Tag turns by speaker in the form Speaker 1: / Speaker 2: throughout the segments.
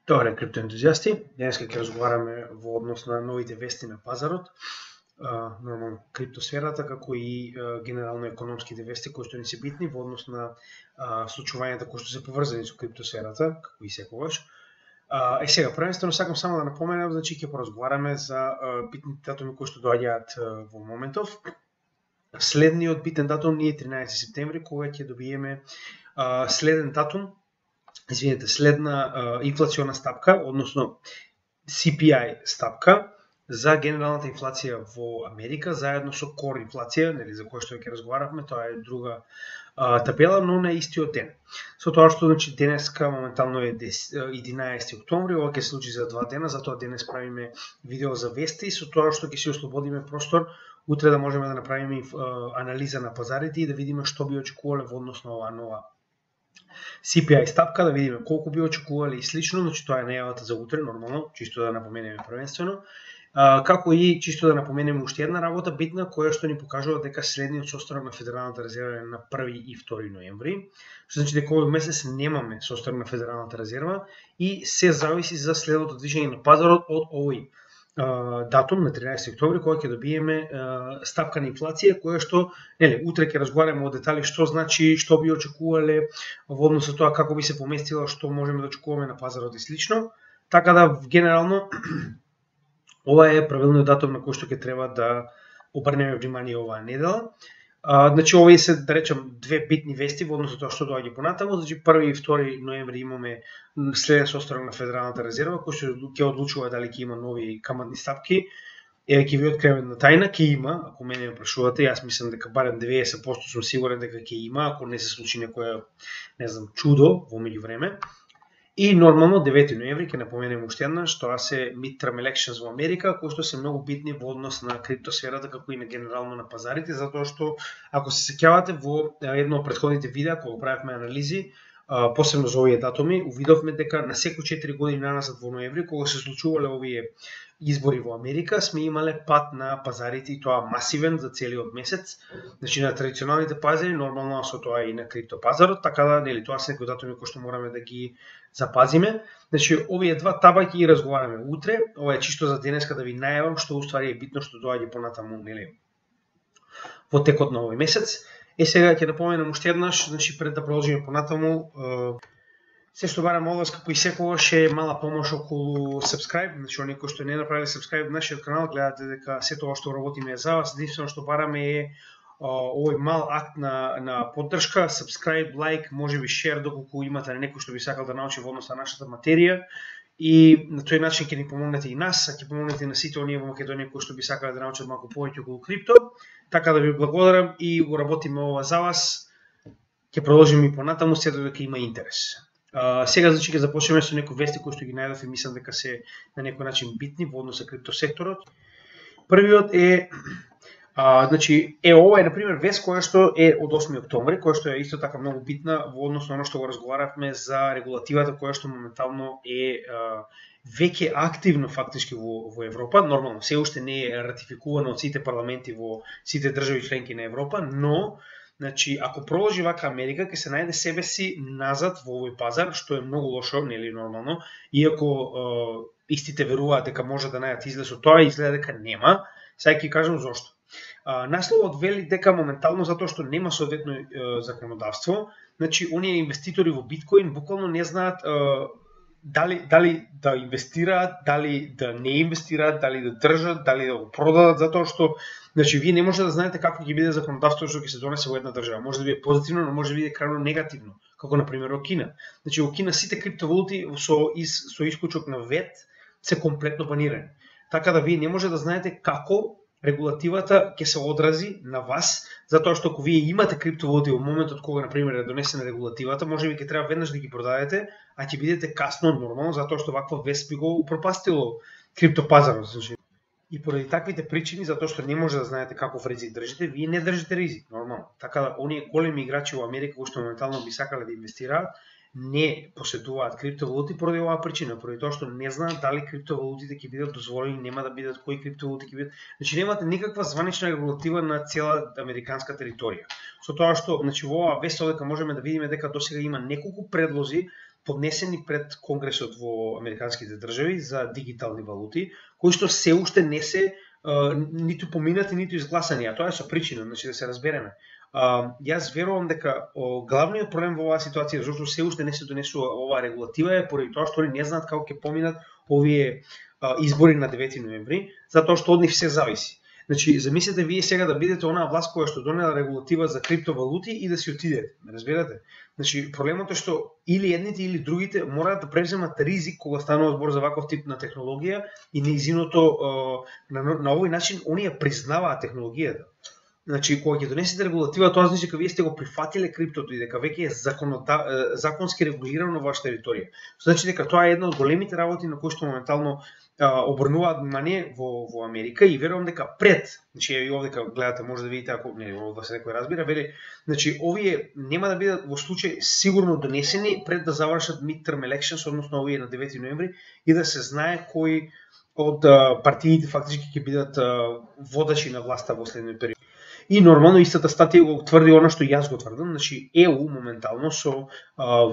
Speaker 1: Добре, криптоентузијасти, денеска ќе разговараме во однос на новите вести на пазарот, нормално криптосферата, како и генерално економските вести кои што ни се битни во однос на случувањата кои што се поврзани со криптосферата, како и секогаш. Сега, првенствено сакам само да напоменам, значи ќе поразговараме за битните датуми кои што доаѓаат во моментов. Следниот битен датум е 13 септември, кога ќе добиеме следна инфлациона стапка, односно CPI стапка за генералната инфлација во Америка, заедно со core инфлација, нели, за која што ќе разговаравме, тоа е друга табела, но на истиот ден. Со тоа што значи денеска моментално е 11 октомври, ова ќе се случи за 2 дена, затоа денес правиме видео за вести, со тоа што ќе се ослободиме простор утре да можеме да направиме анализа на пазарите и да видиме што би очекувале во однос на оваа нова CPI стапка, да видиме колку би очекувале и слично, значи тоа е најавата за утре, нормално, чисто да напоменеме првенствено. Како и чисто да напоменеме уште една работа битна, која што ни покажува дека следниот состанок на Федералната резерва е на 1 и 2 ноември, што значи дека овој месец немаме состанок на Федералната резерва и се зависи за следното движење на пазарот од овој датум на 13 октомври, кога ќе добиеме стапка на инфлација, која што, нели, утре ќе разговараме о детали што значи, што би очекувале во однос со тоа како би се поместила, што можеме да очекуваме на пазарот и слично. Така да генерално ова е правилниот датум на кој што ќе треба да обрнеме внимание оваа недела. Значи овие се, да речем, две битни вести во однос со тоа што доаѓа понатаму. Значи 1 и 2 ноември имаме следен состанок на Федералната резерва, кој што ќе одлучува дали ќе има нови каматни стапки. Ќе ви открием една тајна, ќе има, ако мене ме прашувате, јас мислам дека барем 90% сум сигурен дека ќе има, ако не се случи некоја, не знам, чудо во меѓувреме. И нормално 9 ноември ќе напоменеме уште еднаш, тоа се midterm elections во Америка, кои што се многу битни во однос на криптосферата, како и на генерално на пазарите, затоа што ако се сеќавате во едно од претходните видеа кога правевме анализи, посебно за овие датуми, увидовме дека на секои 4 години наназад во ноември, кога се случувале овие избори во Америка, сме имале пат на пазарите и тоа масивен за целиот месец. Значи на традиционалните пазари, нормално со тоа и на криптопазарот, така да, нели, тоа се некои датуми кои што мораме да ги запазиме. Значи овие два таба ќе ги разговараме утре. Ова е чисто за денеска да ви најавам што уствари е битно што доаѓа понатаму, нели, во текот на овој месец. Сега ќе напоменам уште еднаш, значи пред да продолжиме понатаму, се што барам од вас, како и секогаш, е мала помош околу subscribe, значи оние кои што не направиле subscribe на нашиот канал, гледате дека се тоа што работиме е за вас, единствено што бараме е овој мал акт на поддршка, subscribe, like, можеби share, доколку имате некој што би сакал да научи во однос на нашата материја, и на тој начин ќе ни помогнете и нас, а ќе помогнете и на сите оние во Македонија кои што би сакале да научат малку повеќе околу крипто. Така да ви благодарам и го работиме ова за вас. Ќе продолжиме и понатаму, се додека има интерес. Сега значи ќе започнеме со некои вести кои што ги најдов и мислам дека се на некој начин битни во однос на криптосекторот. Првиот е значи ова е на пример вест која што е од 8 октомври, која што е исто така многу битна во однос на оно што го разговаравме за регулативата која што моментално е веќе активно фактички во Европа. Нормално се уште не е ратификувано од сите парламенти во сите држави членки на Европа, но значи ако продолжи вака Америка ќе се најде себе си назад во овој пазар, што е многу лошо, нели, нормално, иако истите веруваат дека може да најдат излез од тоа, изгледа дека нема. Сега ќе кажам зошто. Насловот вели дека моментално затоа што нема соодветно законодавство, значи оние инвеститори во биткоин буквално не знаат дали да инвестираат, дали да не инвестираат, дали да држат, дали да го продадат, затоа што значи вие не може да знаете како ќе биде законодавството што ќе се донесе во една држава. Може да биде позитивно, но може да биде крајно негативно, како на пример во Кина. Значи во Кина сите криптовалути со исклучок на ВЕТ се комплетно банирани. Така да вие не може да знаете како регулативата ќе се одрази на вас, затоа што ако вие имате криптовалути во моментот кога на пример е донесена регулативата, можеби ќе треба веднаш да ги продадете, а ќе бидете касно нормално, затоа што ваква вест би го упропастило криптопазарот. И поради таквите причини, затоа што не може да знаете каков ризик држите, вие не држите ризик, нормално. Така да оние големи играчи во Америка кои што моментално би сакале да инвестираат, не поседуваат криптовалути поради оваа причина, поради тоа што не знаат дали криптовалутите ќе бидат дозволени, нема да бидат, кои криптовалути ќе бидат. Значи немате никаква званична регулатива на цела американска територија. Со тоа што, значи во оваа вест дека можеме да видиме дека досега има неколку предлози поднесени пред Конгресот во американските држави за дигитални валути, кои што се уште не се ниту поминати, ниту изгласани, а тоа е со причина, значи да се разбереме. Јас верувам дека главниот проблем во оваа ситуација, зашто се уште не се донесува оваа регулатива, е поради тоа што они не знаат како ќе поминат овие избори на 9 ноември, затоа што од нив се зависи. Значи, замислете вие сега да бидете онаа власт која што донела регулатива за криптовалути и да си отидете, разбирате? Значи, проблемот е што или едните или другите мораат да преземат ризик кога станува збор за ваков тип на технологија и неизиното на овој начин оние признаваат технологијата. Значи, кога ќе донесете регулатива, тоа значи дека вие сте го прифатиле криптото и дека веќе е законски регулирано во вашата територија. Значи дека тоа е една од големите работи на кои што моментално обрнуваат внимание во Америка и верувам дека пред, значи и овде кога гледате може да видите ако не ова се некој разбира, вели, значи овие нема да бидат во случај сигурно донесени пред да завршат midterm elections, односно овие на 9 ноември и да се знае кои од партиите фактички ќе бидат водачи на власта во следниот период. И нормално истата статија го тврди она што јас го тврдам, значи ЕУ моментално со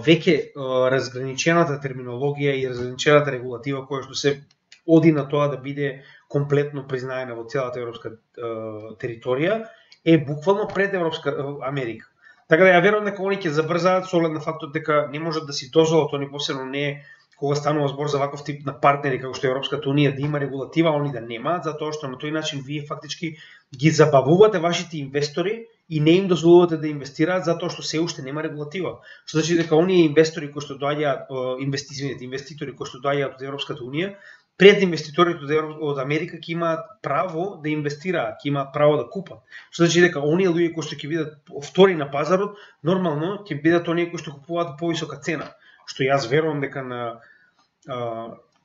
Speaker 1: веќе разграничената терминологија и разграничената регулатива која што се оди на тоа да биде комплетно признаена во целата европска територија, е буквално пред Европска Америка. Така да ја верувам дека они ќе забрзаат со оглед на фактот дека не можат да си дозволат, они посебно не кога станува збор за ваков тип на партнери како што е Европската унија да има регулатива, они да немаат, затоа што на тој начин вие фактички ги забавувате вашите инвестори и не им дозволувате да инвестираат затоа што се уште нема регулатива. Што значи дека оние инвестори кои што доаѓаат, инвеститори кои што доаѓаат од Европската унија, пред инвеститорите од Америка ќе имаат право да инвестираат, ќе имаат право да купат. Што значи дека оние луѓе кои што ќе бидат втори на пазарот, нормално ќе бидат оние кои што купуваат по висока цена. Што јас верувам дека на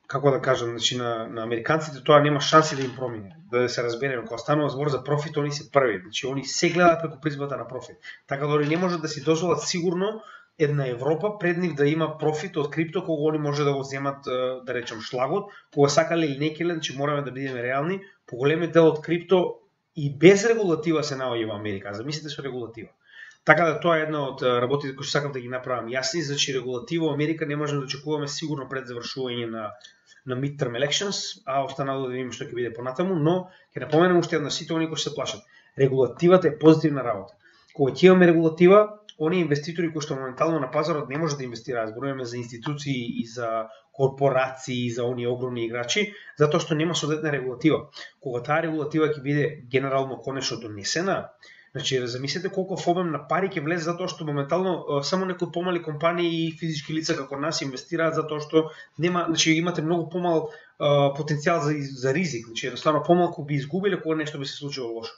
Speaker 1: како да кажам, значи на американците тоа нема шанси да им промине. Да се разбереме, кога станува збор за профит, они се први, значи они се гледаат преку призмата на профит. Така да они не можат да си дозволат сигурно една Европа пред нив да има профит од крипто кога они може да го земат, да речем, шлагот, кога сакале или не келе, значи мораме да бидеме реални, поголемиот дел од крипто и без регулатива се наоѓа во Америка, замислите со регулатива. Така да тоа е една од работите кои сакам да ги направам јасни, значи регулатива во Америка не можеме да очекуваме сигурно пред завршување на midterm elections, а останало да видиме што ќе биде понатаму, но ќе напоменам уште една сите оние кои се плашат. Регулативата е позитивна работа. Кога ќе имаме регулатива, оние инвеститори кои што моментално на пазарот не можат да инвестираат, зборуваме за институции и за корпорации и за оние огромни играчи, затоа што нема соодветна регулатива. Кога таа регулатива ќе биде генерално конечно донесена, значи замислете колку обем на пари ќе влезе затоа што моментално само некои помали компании и физички лица како нас инвестираат затоа што нема, значи имате многу помал потенцијал за ризик, значи едноставно помалку би изгубиле кога нешто би се случило лошо.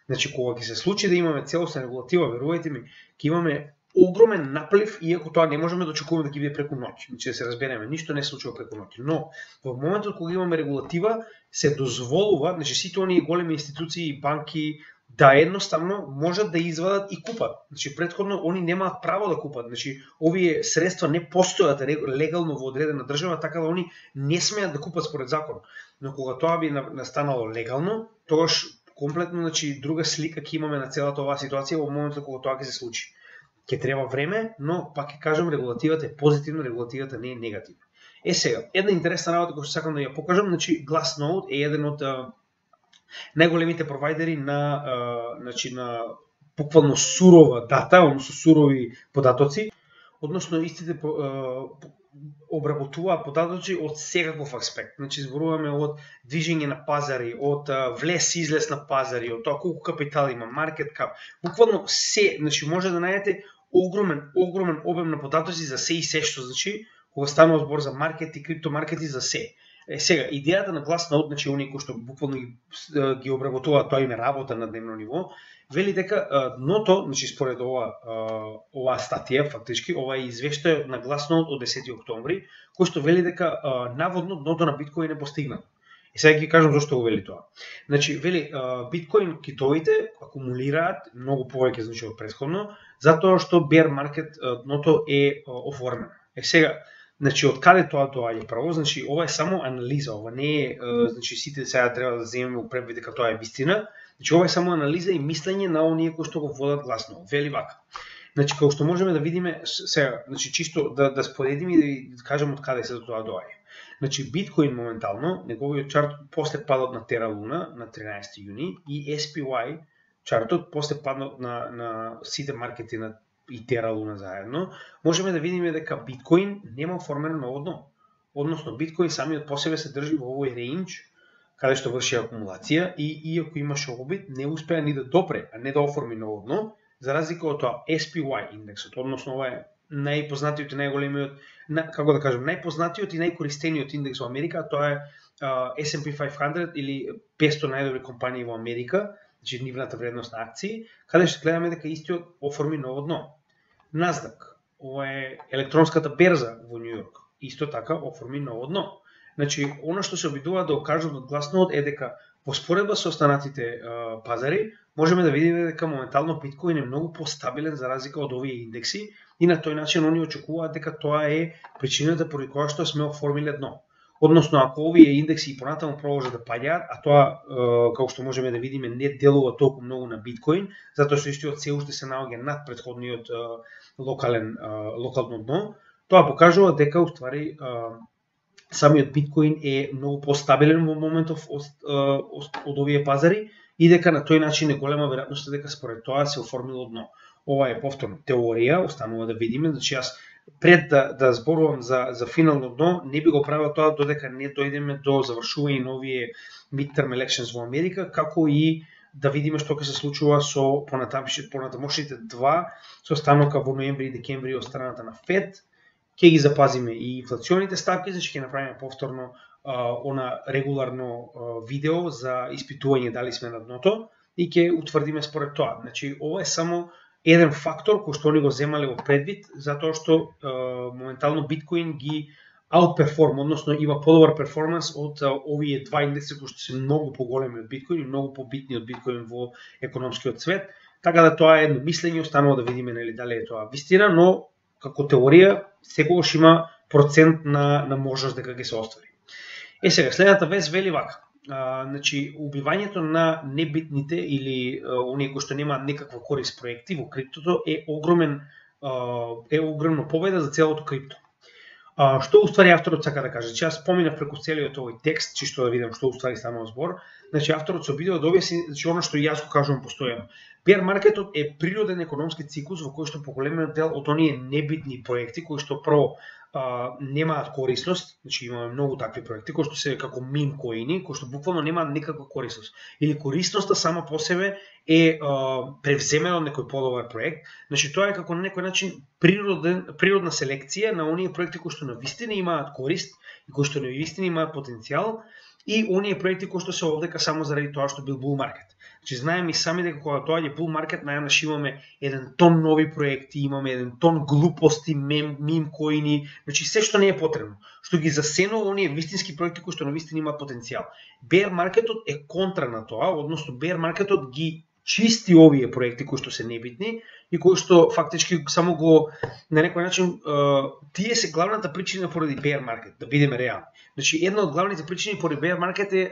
Speaker 1: Значи кога ќе се случи да имаме целосна регулатива, верувајте ми, ќе имаме огромен наплив, иако тоа не можеме да очекуваме да ќе биде преку ноќ. Значи да се разбереме, ништо не се случува преку ноќ. Но во моментот кога имаме регулатива, се дозволува, значи сите оние големи институции и банки да едноставно можат да извадат и купат. Значи претходно они немаат право да купат. Значи овие средства не постојат легално во одредена држава, така да они не смеат да купат според закон. Но кога тоа би настанало легално, тогаш комплетно, значи друга слика ќе имаме на целата оваа ситуација во моментот кога тоа ќе се случи. Ќе треба време, но пак ќе кажам регулативата е позитивна, регулативата не е негативна. Сега, една интересна работа која сакам да ја покажам, значи Glassnode е еден од најголемите провайдери значи на буквално сурова дата, односно сурови податоци, односно истите обработуваат податоци од секаков аспект. Значи зборуваме од движење на пазари, од влез и излез на пазари, од тоа колку капитал има, маркет кап, буквално се, значи може да најдете огромен обем на податоци за се и се што, значи кога станува збор за маркет и криптомаркети за се. Сега, идејата на Glassnode, значи оние кои што буквално ги обработуваат, тоа им е работа на дневно ниво, вели дека дното, значи според оваа статија, фактички, ова е извештај на Glassnode од 10 октомври, кој што вели дека наводно дното на биткоин е постигнато. И сега ќе кажам зошто го вели тоа. Значи, вели, биткоин китовите акумулираат многу повеќе, значи од претходно, затоа што bear market дното е оформено. Сега, значи од каде тоа доаѓа право? Значи ова е само анализа, ова не е значи сите сега треба да земеме у превид дека тоа е вистина. Значи ова е само анализа и мислење на оние кои што го водат Glassnode. Вели вака. Значи, како што можеме да видиме сега, значи чисто да споредиме и да кажеме од каде се тоа доаѓа. Значи, биткоин моментално, неговиот чарт после падот на Terra Luna на 13 јуни и SPY чартот после падот на сите маркети на и Terra Luna заедно, можеме да видиме дека биткоин нема оформено ново дно. Односно, биткоин самиот по себе се држи во овој рейндж каде што врши акумулација и иако имаше обид, не успеа ни да допре, а не да оформи ново дно, за разлика од тоа SPY индексот, односно ова е најпознатиот и најголемиот, како да кажем, најпознатиот и најкористениот индекс во Америка, тоа е S&P 500 или 500 најдобри компании во Америка, значи нивната вредност на акции, каде што гледаме дека истиот оформи ново дно. Насдак, ова е електронската берза во Њу Јорк, исто така оформи ново дно. Значи, она што се обидуваат да окажат од гласновод е дека во споредба со останатите пазари, можеме да видиме дека моментално биткоин е многу постабилен за разлика од овие индекси и на тој начин они очекуваат дека тоа е причината поради која што сме оформиле дно. Односно, ако овие индекси и понатаму продолжат да паѓаат, а тоа, како што можеме да видиме, не делува толку многу на биткоин, затоа што истиот се уште се наоѓа над претходниот локално дно, тоа покажува дека уствари самиот биткоин е многу постабилен во моментов од овие пазари и дека на тој начин е голема веројатност дека според тоа се оформило дно. Ова е повторно теорија, останува да видиме, значи јас пред да зборувам за финално дно, не би го правил тоа додека не дојдеме до завршување на овие midterm elections во Америка, како и да видиме што ќе се случува со понатамошните два состанока во ноември и декември од страната на Фед. Ќе ги запазиме и инфлационите ставки, значи ќе направиме повторно она регуларно видео за испитување дали сме на дното и ќе утврдиме според тоа. Значи ова е само еден фактор кој што они го земале во предвид, затоа што моментално биткоин ги outperform, односно има подобар перформанс од овие два индекси кои што се многу поголеми од биткоин и многу побитни од биткоин во економскиот свет. Така да тоа е едно мислење, останува да видиме нели дали е тоа вистина, но како теорија секогаш има процент на можност дека ќе се оствари. Сега, следната вест вели вака. Значи, убивањето на небитните или оние кои што немаат некаква корист проекти во криптото е огромна победа за целото крипто. Што уствари авторот сака да каже? Јас споминав преку целиот овој текст, чисто да видам што уствари станува збор. Значи, авторот се обидува да објасни, значи она што јас го кажувам постојано. Bear маркетот е природен економски циклус во кој што поголемиот дел од оние небитни проекти кои што прво немаат корисност, значи имаме многу такви проекти кои што се како мим коини, кои што буквално немаат никаква корисност. Или корисноста сама по себе е превземена од некој подобар проект. Значи тоа е како на некој начин природна селекција на оние проекти кои што навистина имаат корист и кои што навистина имаат потенцијал и оние проекти кои што се овдека само заради тоа што бил bull market. Значи знаеме и сами дека кога доаѓа bull market, најнаш имаме еден тон нови проекти, имаме еден тон глупости, мим коини, значи се што не е потребно, што ги засенува оние вистински проекти кои што навистина имаат потенцијал. Bear маркетот е контра на тоа, односно bear маркетот ги чисти овие проекти кои што се небитни и кои што фактички само го на некој начин тие се главната причина поради bear market, да бидеме реални. Значи една од главните причини поради bear market е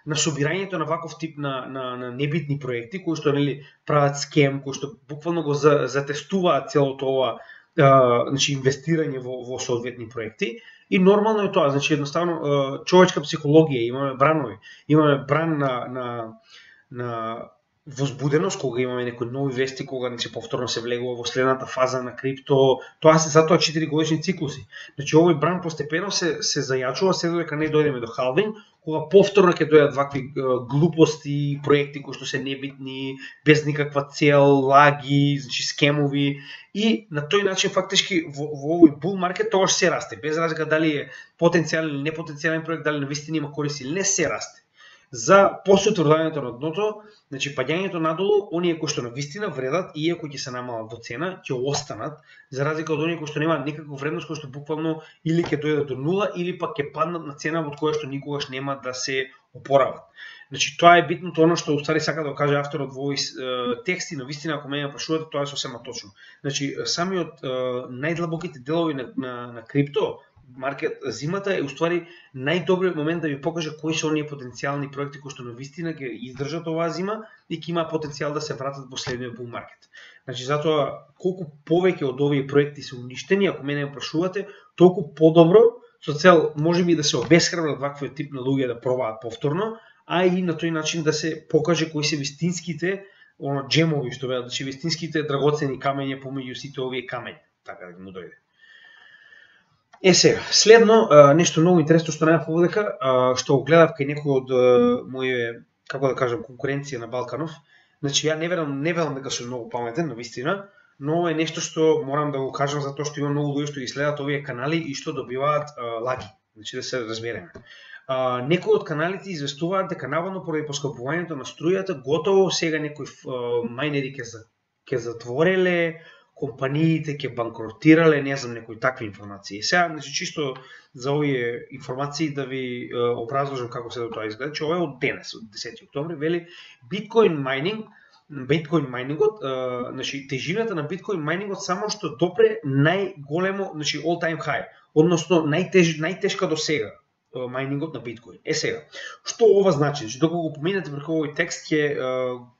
Speaker 1: на собирањето на ваков тип на небитни проекти кои што нели прават скем, кои што буквално го затестуваат целото ова значи инвестирање во соодветни проекти. И нормално е тоа, значи едноставно човечка психологија, имаме бранови, имаме бран на возбуденост кога имаме некои нови вести, кога не се повторно се влегува во следната фаза на крипто, тоа се затоа 4 годишни циклуси. Значи овој бран постепено се зајачува се додека не дојдеме до халвинг, кога повторно ќе дојдат вакви глупости, проекти кои што се небитни, без никаква цел, лаги, значи скемови и на тој начин фактички во овој bull market тоа се расте, без разлика дали е потенцијален или непотенцијален проект, дали навистина има корист или не, се расте. За после утврдувањето на дното, значи паѓањето надолу, оние кои што навистина вредат и иако ќе се намалат во цена, ќе останат, за разлика од оние кои што немаат никаква вредност, кои што буквално или ќе дојдат до нула или пак ќе паднат на цена од која што никогаш нема да се опорават. Значи тоа е битното, оно што устари сака да каже авторот во овој текст и навистина ако мене прашувате, тоа е сосема точно. Значи самиот најдлабоките делови на крипто маркет зимата е уствари најдобриот момент да ви покаже кои се оние потенцијални проекти кои што навистина ќе издржат оваа зима и ќе има потенцијал да се вратат во следниот bull маркет. Значи затоа колку повеќе од овие проекти се уништени, ако мене ме прашувате, толку подобро, со цел можеби да се обесхрабрат ваквиот тип на луѓе да пробаат повторно, а и на тој начин да се покаже кои се вистинските джемови, што велат, значи вистинските драгоцени камења помеѓу сите овие камења, така да му дојде. Сега, следно, нешто многу интересно што најав овдека, што го гледав кај некој од моје, како да кажам, конкуренција на Балканов. Значи, ја не велам дека сум многу паметен, навистина, но е нешто што морам да го кажам затоа што има многу луѓе што ги следат овие канали и што добиваат лаги. Значи, да се разбереме. Некои од каналите известуваат дека наводно поради поскапувањето на струјата, готово сега некои мајнери ќе затвореле, компаниите ќе банкротирале, не знам, некои такви информации. Сега, значи, чисто за овие информации да ви образложам како се до тоа изгледа, че ова е од денес, од 10 октомври, вели Bitcoin майнингот, значи тежината на Bitcoin майнингот само што допре најголемо, значи all time high, односно најтешка до сега майнингот на биткоин. Сега, што ова значи? Значи, докога го поминете преку овој текст ќе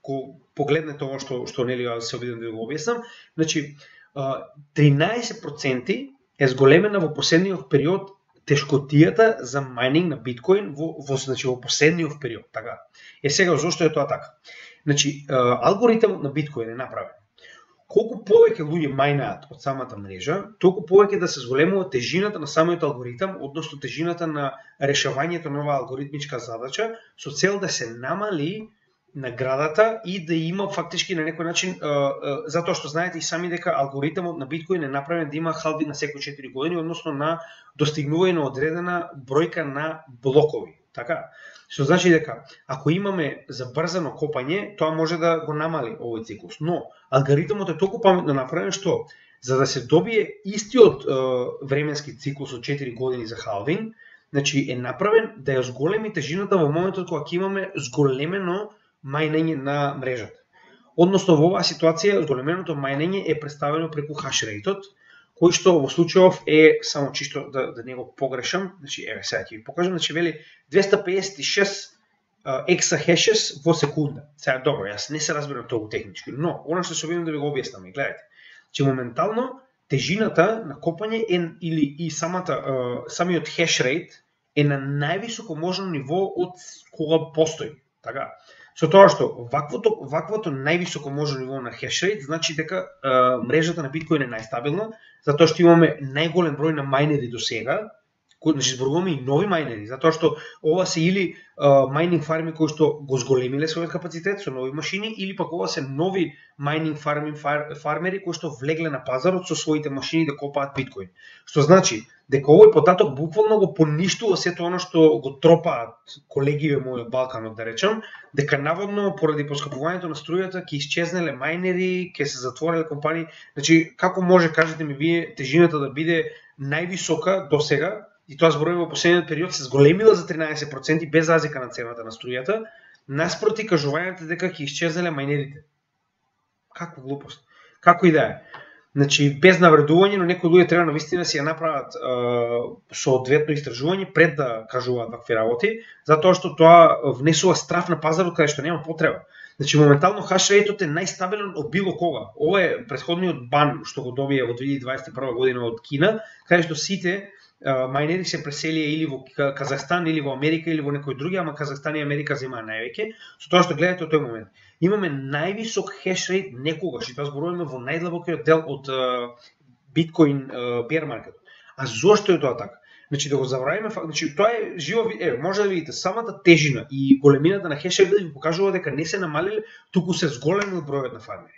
Speaker 1: го погледнете ова што нели се обидам да го објаснам. Значи 13% е зголемена во последниот период тешкотијата за майнинг на биткоин значи во последниот период, така. Сега зошто е тоа така? Значи алгоритмот на биткоин е направен. Колку повеќе луѓе мајнаат од самата мрежа, толку повеќе да се зголемува тежината на самиот алгоритам, односно тежината на решавањето на оваа алгоритмичка задача, со цел да се намали наградата и да има фактички на некој начин, затоа што знаете и сами дека алгоритмот на биткоин е направен да има халвинг на секои 4 години, односно на достигнување на одредена бројка на блокови. Така? Што значи дека ако имаме забрзано копање, тоа може да го намали овој циклус. Но алгоритмот е толку паметно направен што за да се добие истиот временски циклус од 4 години за халвинг, значи е направен да ја зголеми тежината во моментот кога ќе имаме зголемено мајнење на мрежата. Односно во оваа ситуација зголеменото мајнење е представено преку хашрейтот, кој што во случајов е само чисто да не го погрешам, значи еве сега ќе ви покажам, значи вели 256 exahashes во секунда. Сега добро, јас не се разбирам толку технички, но она што се обидам да ви го објаснам, гледате, че моментално тежината на копање или и самиот хешрейт е на највисоко можно ниво од кога постои, така. Со тоа што ваквото највисоко можно ниво на хешрейт значи дека мрежата на биткоин е најстабилна, затоа што имаме најголем број на мајнери до сега, значи зборуваме и нови мајнери, затоа што ова се или мајнинг фарми кои што го зголемиле својот капацитет со нови машини, или пак ова се нови мајнинг фармери кои што влегле на пазарот со своите машини да копаат биткоин. Што значи дека овој податок буквално го поништува сето оно што го тропаат колегиве мои од Балканот, да речам, дека наводно поради поскапувањето на струјата ќе исчезнеле мајнери, ќе се затвореле компании. Значи како може, кажете ми вие, тежината да биде највисока до сега, и тоа зборуваме во последниот период, се зголемила за 13% без разлика на цената на струјата, наспроти кажувањето дека ќе исчезнеле мајнерите. Каква глупост. Како и да е. Значи, без навредување, но некои луѓе треба навистина си ја направат соодветно истражување пред да кажуваат вакви работи, затоа што тоа внесува страф на пазарот каде што нема потреба. Значи, моментално хашрейтот е најстабилен од било кога. Ова е претходниот бан што го добија во 2021 година од Кина, каде што сите мајнери се преселија или во Казахстан, или во Америка, или во некои други, ама Казахстан и Америка земаа највеќе, со тоа што гледате од тој момент. Имаме највисок хешрейт некогаш, и тоа зборуваме во најдлабокиот дел од биткоин бер маркетот. А зошто е тоа така? Значи да го забравиме, значи тоа е живо, може да видите самата тежина и големината на хешрейтот ви покажува дека не се намалиле, туку се зголемил бројот на фармери.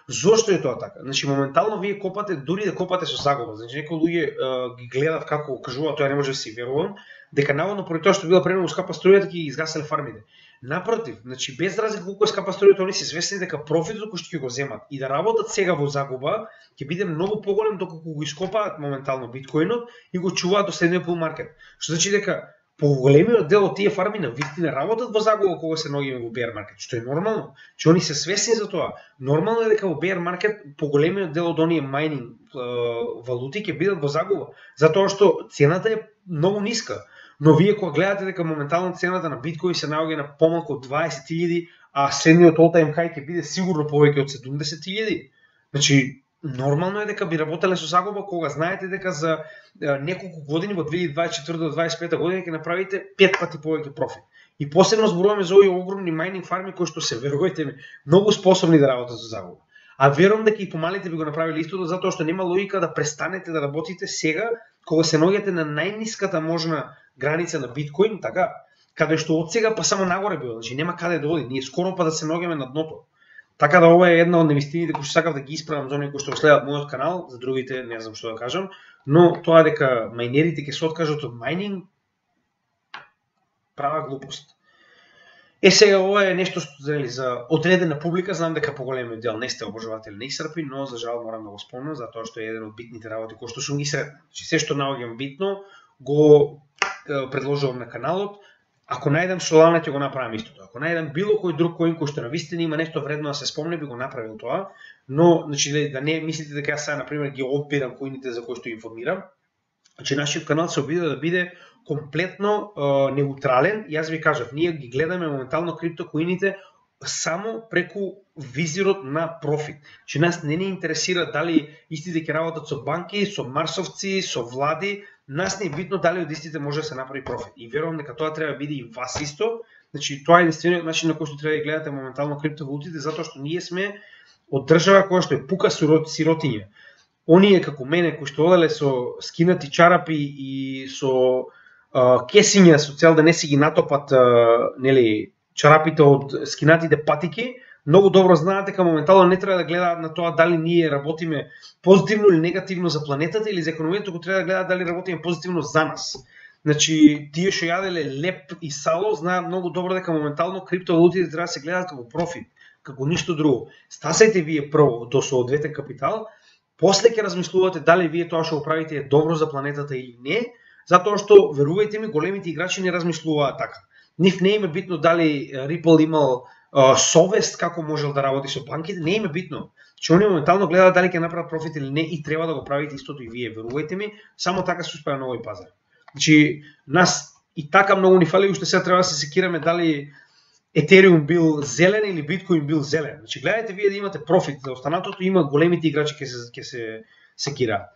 Speaker 1: Зошто е тоа така? Значи моментално вие копате, дури да копате со загуба. Значи некои луѓе ги гледат како кажуваат, тоа не може да си верувам, дека наводно поради тоа што била премногу скапа струјата ќе ги изгаселе фармите. Напротив, значи без разлика колку е скапа струјата, они се свесни дека профитот кој што ќе го земат и да работат сега во загуба ќе биде многу поголем доколку го ископаат моментално биткоинот и го чуваат до следниот bull маркет. Што значи дека поголемиот дел од тие фарми на вистина работат во загуба кога се наоѓаме во bear market, што е нормално, че они се свесни за тоа. Нормално е дека во bear market поголемиот дел од оние майнинг валути ќе бидат во загуба, затоа што цената е многу ниска. Но вие кога гледате дека моментално цената на биткоин се наоѓа на помалку од 20.000, а следниот all-time high ќе биде сигурно повеќе од 70.000. Значи, нормално е дека би работеле со загуба кога знаете дека за неколку години во 2024 до 2025 година ќе направите 5 пати повеќе профит. И посебно зборуваме за овие огромни майнинг фарми кои што се, верувајте ми, многу способни да работат со загуба. А верувам дека и помалите би го направиле истото, затоа што нема логика да престанете да работите сега кога се наоѓате на најниската можна граница на биткоин, така, каде што од сега па само нагоре било, значи нема каде да оди, ние скоро па да се наоѓаме на дното. Така да ова е една од невистините кои што сакав да ги исправам за оние кои што следат мојот канал, за другите не знам што да кажам, но тоа дека мајнерите ќе се откажат од мајнинг права глупост. Сега ова е нешто што за одредена публика, знам дека поголемиот дел не сте обожаватели на XRP, но за жал морам да го спомнам затоа што е еден од битните работи кои што сум ги сретнал. Значи се што наоѓам битно го предложувам на каналот. Ако најдам Solana ќе го направам истото. Ако најдам било кој друг коин кој што навистина има нешто вредно да се спомне, би го направил тоа, но значи да не мислите дека јас сега на пример ги одбирам коините за кои што информирам. Значи нашиот канал се обиде да биде комплетно неутрален. Јас ви кажав, ние ги гледаме моментално криптокоините само преку визирот на профит. Че нас не интересира дали истите ќе работат со банки, со марсовци, со влади. Нас не е битно дали од истите може да се направи профит. И верувам дека тоа треба да биде и вас исто. Значи тоа е единствениот начин на кој што треба да гледате моментално криптовалутите, затоа што ние сме од држава која што е пука сиротиња. Оние како мене кои што оделе со скинати чарапи и со кесиња со цел да не си ги натопат нели чарапите од скинатите патики, многу добро знаат дека моментално не треба да гледаат на тоа дали ние работиме позитивно или негативно за планетата или за економијата, туку треба да гледаат дали работиме позитивно за нас. Значи, тие што јаделе леп и сало знаат многу добро дека моментално криптовалутите треба да се гледаат како профит, како ништо друго. Стасајте вие прво до соодветен капитал, после ќе размислувате дали вие тоа што го правите е добро за планетата или не, затоа што верувајте ми, големите играчи не размислуваат така. Нив не им е битно дали Ripple имал совест како можел да работи со банките, не им е битно. Че они моментално гледаат дали ќе направат профит или не и треба да го правите истото и вие, верувајте ми, само така се успеа на овој пазар. Значи, нас и така многу ни фали, уште сега треба да се секираме дали Ethereum бил зелен или Bitcoin бил зелен. Значи, гледајте вие да имате профит, за останатото има големите играчи ќе се секираат.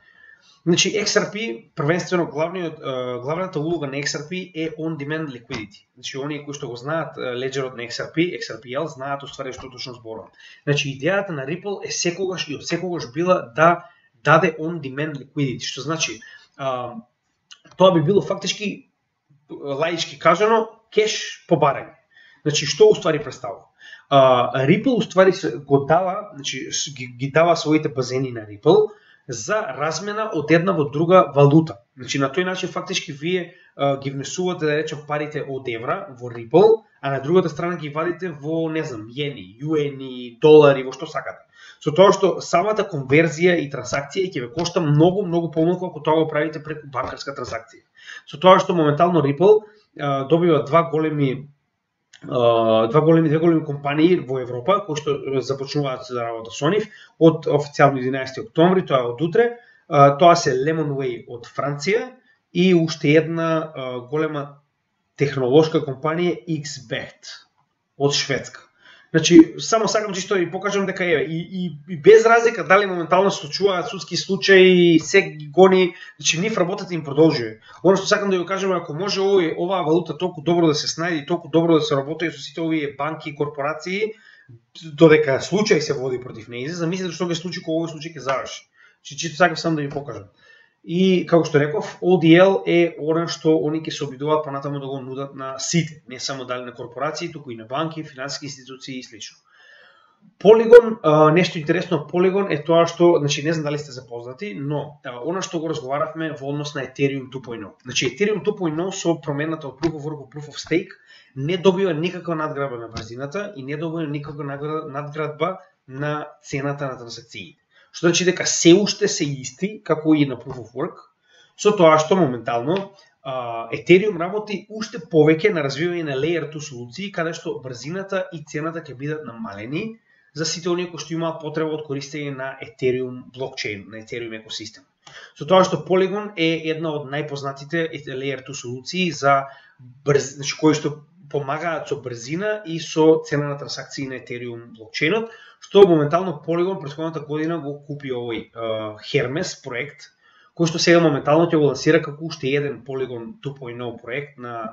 Speaker 1: Значи, XRP, првенствено главната улога на XRP е on-demand liquidity. Значи, оние кои што го знаат леджерот на XRP, XRPL, знаат уствари што точно зборувам. Значи, идејата на Ripple е секогаш и од секогаш била да даде on-demand liquidity, што значи тоа би било фактички лаички кажано кеш по барање. Значи, што уствари представува? Ripple уствари го дава, значи ги дава своите базени на Ripple за размена од една во друга валута. Значи на тој начин фактички вие ги внесувате, да речем, парите од евра во Ripple, а на другата страна ги вадите во, не знам, јени, юени, долари, во што сакате. Со тоа што самата конверзија и трансакција ќе ве кошта многу помалку ако тоа го правите преку банкарска трансакција. Со тоа што моментално Ripple добива две големи компании во Европа кои што започнуваат да работат со нив од официјално 11 октомври, тоа е од утре. Тоа се Lemonway од Франција и уште една голема технолошка компанија XBet од Шведска. Значи, само сакам чисто да ви покажам дека е и без разлика дали моментално се случуваат судски случаи, се ги гони, значи нив работата им продолжува. Оно што сакам да ви кажам, ако може оваа валута толку добро да се снајде и толку добро да се работи со сите овие банки и корпорации, додека случај се води против нејзе, замислете што ќе случи кога овој случај ќе заврши. Чисто сакам само да ви покажам. И, како што реков, ODL е она што они ќе се обидуваат понатаму да го нудат на сите, не само дали на корпорации, туку и на банки, финансиски институции и слично. Polygon, нешто интересно од Polygon е тоа што, значи не знам дали сте запознати, но она што го разговаравме во однос на Ethereum 2.0. Значи Ethereum 2.0 со промената од Proof of Work во Proof of Stake не добива никаква надградба на брзината и не добива никаква надградба на цената на трансакциите. Што значи дека се уште се исти, како и на Proof of Work, со тоа што моментално Ethereum работи уште повеќе на развивање на Layer 2 солуции, каде што брзината и цената ќе бидат намалени за сите оние кои што имаат потреба од користење на Ethereum блокчейн, на Ethereum екосистем. Со тоа што Polygon е една од најпознатите Layer 2 солуции за значи кои што помагаат со брзина и со цена на трансакции на Ethereum блокчейнот, што моментално Polygon претходната година го купи овој Hermes проект, кој што сега моментално ќе го лансира како уште еден Polygon 2.0 проект на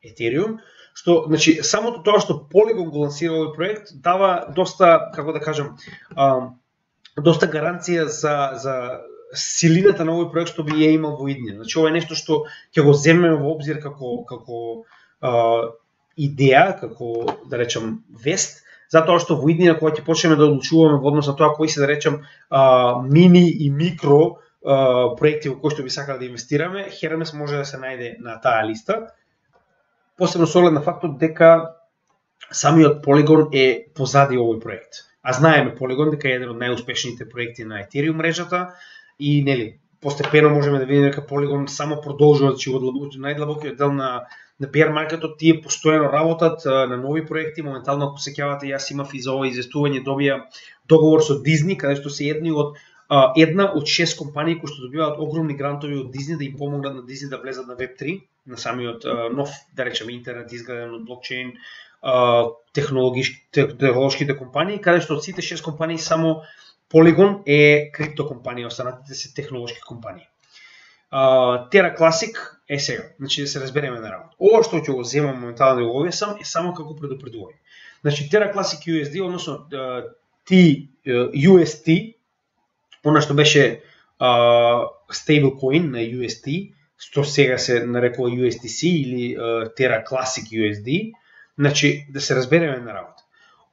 Speaker 1: Ethereum, што значи самото тоа што Polygon го лансира овој проект дава доста, како да кажам, доста гаранција за силината на овој проект што би ја имал во иднина. Значи ова е нешто што ќе го земеме во обзир како идеја, како да речам вест, затоа што во иднина кога ќе почнеме да одлучуваме во однос на тоа кои се да речам мини и микро проекти во кои што би сакале да инвестираме, Hermes може да се најде на таа листа. Посебно со оглед на фактот дека самиот Polygon е позади овој проект. А знаеме Polygon дека е еден од најуспешните проекти на Ethereum мрежата и нели постепено можеме да видиме дека Polygon само продолжува во најдлабокиот дел на bear маркетот, тие постојано работат на нови проекти. Моментално ако се сеќавате, јас имав и за ова известување добија договор со Disney, каде што се една од 6 компании кои што добиваат огромни грантови од Disney да им помогнат на Disney да влезат на Web3, на самиот нов, да речеме, интернет изграден од блокчейн, технолошките компании, каде што од сите 6 компании само Polygon е криптокомпанија, останатите се технолошки компании. Terra Classic е сега, значи да се разбереме на работа. Ова што ќе го земам моментално да го објаснам е само како предупредување. Значи Terra Classic USD, односно TUST, она што беше stablecoin на UST, што сега се нарекува USDC или Terra Classic USD, значи да се разбереме на работа.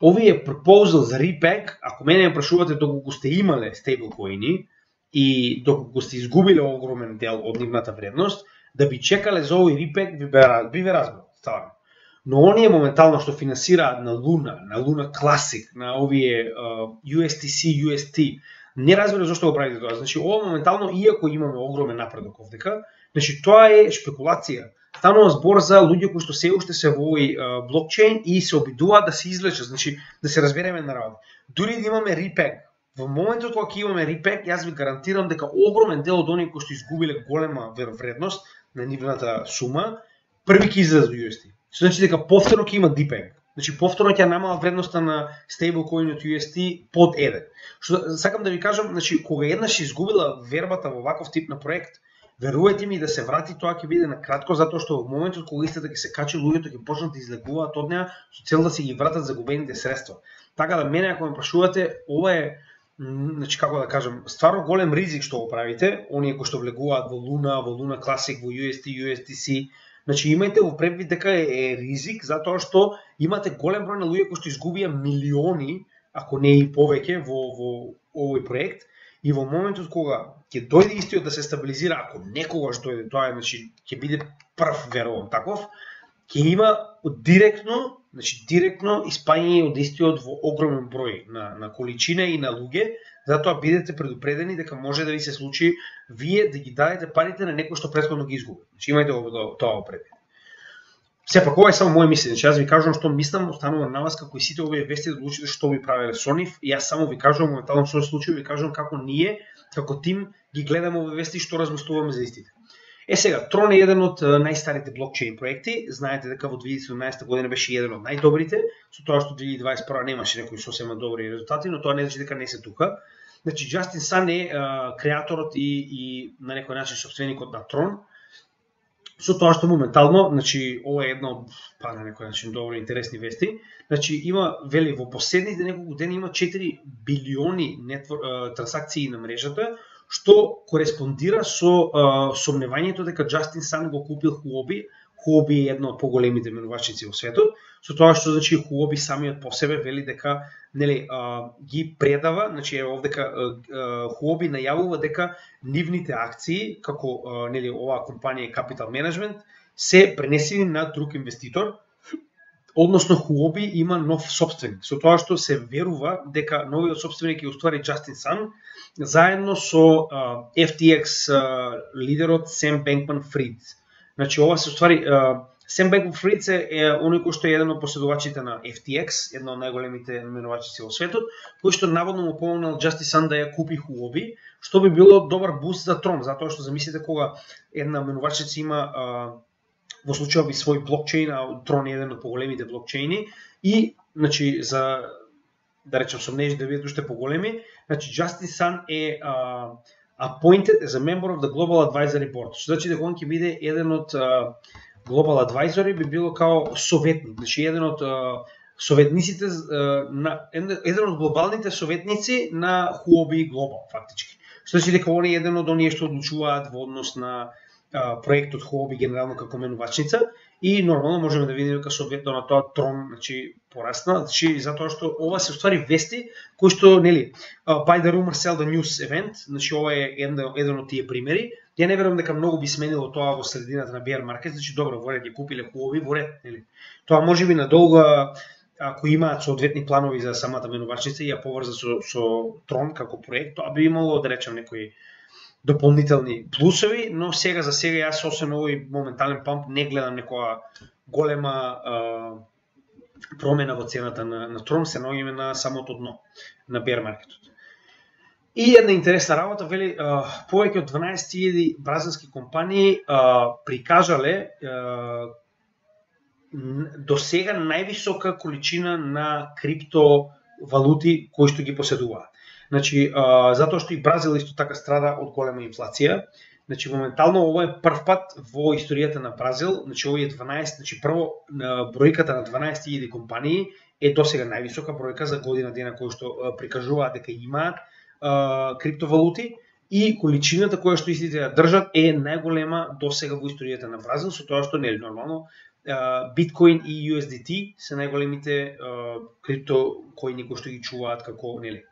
Speaker 1: Овие пропозал за репек, ако мене ме прашувате доколку сте имале стейблкоини и доколку сте изгубиле огромен дел од нивната вредност, да би чекале за овој репек би ве разбрал, ставам. Но оние моментално што финансираат на Luna Classic, на овие USTC, UST, не разбира зашто го правите тоа. Значи ова моментално, иако имаме огромен напредок овдека, значи тоа е шпекулација. Станува збор за луѓе кои што се уште се во овој блокчейн и се обидуваат да се извлечат, значи да се разбереме на работа. Дури да имаме репек, во моментот кога ќе имаме репек, јас ви гарантирам дека огромен дел од оние кои што изгубиле голема вредност на нивната сума, први ќе излезат во UST. Значи дека повторно ќе има дипек. Значи повторно ќе намала вредноста на стейблкоинот UST под 1. Што сакам да ви кажам, значи кога еднаш изгубила вербата во ваков тип на проект, верувајте ми да се врати, тоа ќе биде на кратко, затоа што во моментот кога истата ќе се качи, луѓето ќе почнат да излегуваат од неа со цел да се ги вратат загубените средства. Така да мене ако ме прашувате, ова е, значи како да кажам, стварно голем ризик што го правите, оние кои што влегуваат во Luna Classic, во UST, USDC. Значи имајте во предвид дека е ризик затоа што имате голем број на луѓе кои што изгубија милиони, ако не и повеќе во овој проект. И во моментот кога ќе дојде истиот да се стабилизира, ако некогаш дојде тоа, значи ќе биде прв, верувам таков, ќе има директно испаѓање од истиот во огромен број на количина и на луѓе, затоа бидете предупредени дека може да ви се случи вие да ги дадете парите на некој што претходно ги изгуби. Значи имајте тоа предвид. Сепак ова е само моје мислење, значи јас ви кажувам што мислам, останува на вас како и сите овие вести да одлучите што би правеле со нив. Јас само ви кажувам моментално што се случи, ви кажувам како ние, како тим ги гледаме овие вести и што размислуваме за истите. Сега, Tron е еден од најстарите блокчейн проекти. Знаете дека во 2017 година беше еден од најдобрите, со тоа што 2021 немаше некои сосема добри резултати, но тоа не значи дека не се тука. Значи Justin Sun е креаторот и на некој начин сопственикот на Tron. Со тоа што моментално, значи ова е една од на некој начин добри интересни вести. Значи има вели во последните неколку дена има 4 билиони трансакции на мрежата, што кореспондира со сомневањето дека Justin Sun го купил Huobi. Huobi е една од поголемите менувачници во светот, со тоа што значи Huobi самиот по себе вели дека нели ги предава, значи овдека Huobi најавува дека нивните акции како нели оваа компанија Capital Management се пренесени на друг инвеститор. Односно Huobi има нов собственик, со тоа што се верува дека новиот собственик е уствари Justin Sun, заедно со FTX лидерот Sam Bankman-Fried. Значи ова се уствари Sam Bankman-Fried е оној кој што е еден од последувачите на FTX, една од најголемите менувачици во светот, кој што наводно му помогнал Justice Sun да ја купи Huobi, што би било добар буст за Tron, затоа што замислите кога една менувачица има во случајот би свој блокчейн, а Tron е еден од поголемите блокчейни и значи за да речем сомнеж да бидат уште поголеми, значи Justice Sun е appointed as a member of the Global Advisory Board. Што значи дека он ќе биде еден од Global Advisory би било као советник, значи еден од советниците еден од глобалните советници на Huobi Global фактички. Што значи дека он е еден од оние што одлучуваат во однос на проектот Huobi генерално како менувачница и нормално можеме да видиме дека соодветно на тоа Tron значи порасна, значи затоа што ова се уствари вести кои што нели buy the rumor sell the news event, значи ова е еден од тие примери. Ја не верувам дека многу би сменило тоа во средината на bear market, значи добро во ред ќе купиле Huobi во ред, нели. Тоа можеби надолго ако имаат соодветни планови за самата менувачница и ја поврза со Tron како проект, тоа би имало да речем некои дополнителни плусови, но сега за сега јас освен овој моментален памп не гледам некоја голема промена во цената на Tron, се наоѓаме на самото дно на bear маркетот. И една интересна работа, вели повеќе од 12.000 бразилски компании прикажале до сега највисока количина на криптовалути кои што ги поседуваат. Значи, затоа што и Бразил исто така страда од голема инфлација. Значи, моментално ова е прв пат во историјата на Бразил, значи овие 12, значи прво бројката на 12.000 компании е досега највисока бројка за година дена кои што прикажуваат дека имаат криптовалути и количината која што истите ја држат е најголема досега во историјата на Бразил, со тоа што нели нормално Биткоин и USDT се најголемите криптокоини кои што ги чуваат како нели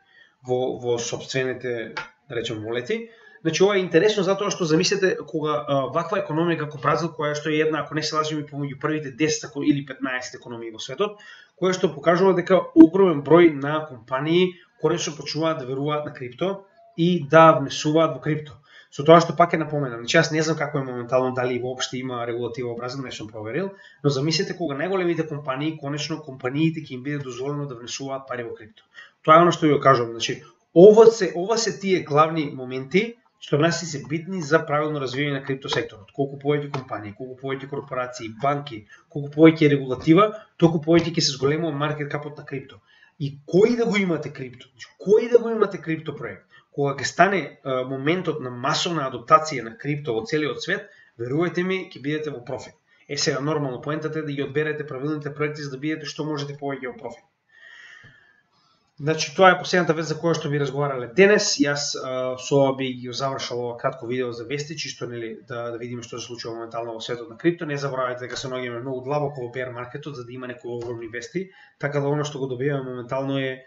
Speaker 1: во собствените, да речем, волети. Значи ова е интересно затоа што замислете кога ваква економика како Бразил, која што е една, ако не се лажем, помеѓу првите 10 или 15 економии во светот, која што покажува дека огромен број на компании конечно почнуваат да веруваат на крипто и да внесуваат во крипто. Со тоа што пак е напоменам, значи јас не знам како е моментално, дали воопште има регулатива во Бразил, не сум проверил, но замислете кога најголемите компании, конечно компаниите ќе им биде дозволено да внесуваат пари во крипто. Тоа е оно што ја кажувам, значи ова се тие главни моменти што нас се битни за правилно развивање на крипто секторот. Колку повеќе компании, колку повеќе корпорации, банки, колку повеќе регулатива, толку повеќе ќе се зголемува маркет капот на крипто. И кој да го имате крипто? Кој да го имате крипто проект? Кога ќе стане моментот на масовна адаптација на крипто во целиот свет, верувајте ми, ќе бидете во профит. Сега нормално поентата е да ги одберете правилните проекти за да бидете што можете повеќе во профит. Значи тоа е последната вест за која што би разговарале денес. Јас со ова би ги завршал ова кратко видео за вести, чисто нели да видиме што се случува моментално во светот на крипто. Не заборавајте дека се наоѓаме многу длабоко во bear маркетот за да има некои огромни вести, така да оно што го добиваме моментално е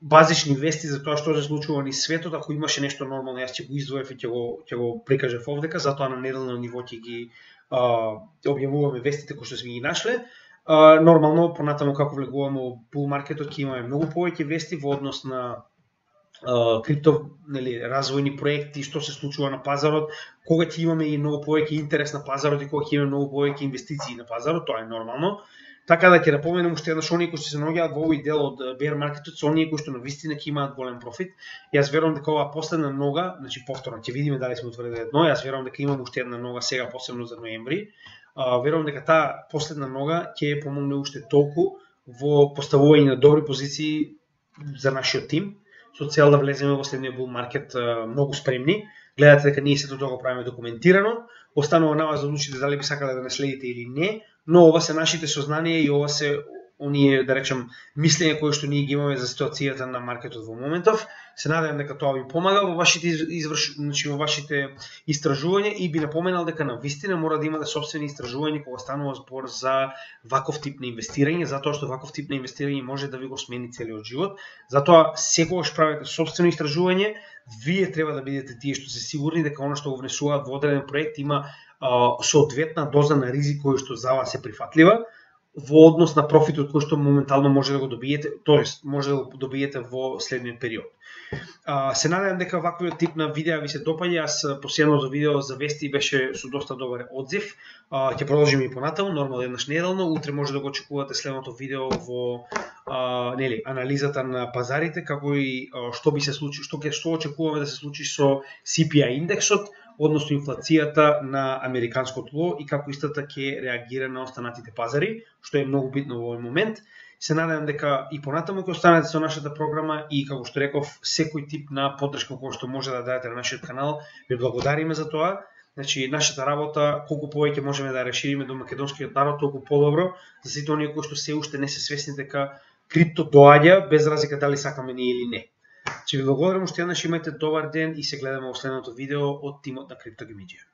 Speaker 1: базични вести за тоа што се случува низ светот. Ако имаше нешто нормално, јас ќе го издвоев и ќе го прикажев овдека, затоа на неделно ниво ќе ги објавуваме вестите кои што сме ги нашле. Нормално, понатаму како влегуваме во bull маркетот, ќе имаме многу повеќе вести во однос на крипто, нели, развојни проекти, што се случува на пазарот, кога ќе имаме и многу повеќе интерес на пазарот и кога ќе имаме многу повеќе инвестиции на пазарот, тоа е нормално. Така да ќе напоменам уште еднаш оние кои што се наоѓаат во овој дел од bear маркетот, се оние кои што навистина ќе имаат голем профит. Јас верувам дека оваа последна нога, значи повторно ќе видиме дали сме утврдили едно, јас верувам дека имаме уште една нога сега посебно за ноември. Верувам дека таа последна нога ќе помогне уште толку во поставување на добри позиции за нашиот тим, со цел да влеземе во следниот bull маркет многу спремни. Гледате дека ние сето тоа го правиме документирано, останува на вас да одлучите дали би сакале да не следите или не, но ова се нашите сознанија и ова се оние, да речем, мислења кои што ние ги имаме за ситуацијата на маркетот во моментов. Се надевам дека тоа ви помага во вашите значи во вашите истражувања и би напоменал дека навистина мора да имате сопствени истражувања кога станува збор за ваков тип на инвестирање, затоа што ваков тип на инвестирање може да ви го смени целиот живот. Затоа секогаш правите сопствено истражување, вие треба да бидете тие што се сигурни дека она што го внесуваат во одреден проект има соодветна доза на ризик кој што за вас е прифатлива. во однос на профитот кој што моментално може да го добиете, тоест може да го добиете во следниот период. Се надевам дека ваквиот тип на видеа ви се допаѓа. Аз последното видео за вести беше со доста добар одзив. Ќе продолжиме и понатаму, нормално еднаш неделно. Утре може да го очекувате следното видео во анализата на пазарите, како и што би се случи, што очекуваме да се случи со CPI индексот, односно инфлацијата на американското ло и како истата ќе реагира на останатите пазари, што е многу битно во овој момент. Се надевам дека и понатаму ќе останете со нашата програма и како што реков, секој тип на поддршка кој што може да дадете на нашиот канал, ви благодариме за тоа. Значи, нашата работа, колку повеќе можеме да расшириме до македонскиот народ, толку подобро за сите оние кои што се уште не се свесни дека крипто доаѓа без разлика дали сакаме ние или не. Че ви благодарам уште еднаш, имајте добар ден и се гледаме во следното видео од тимот на Криптогамиџија.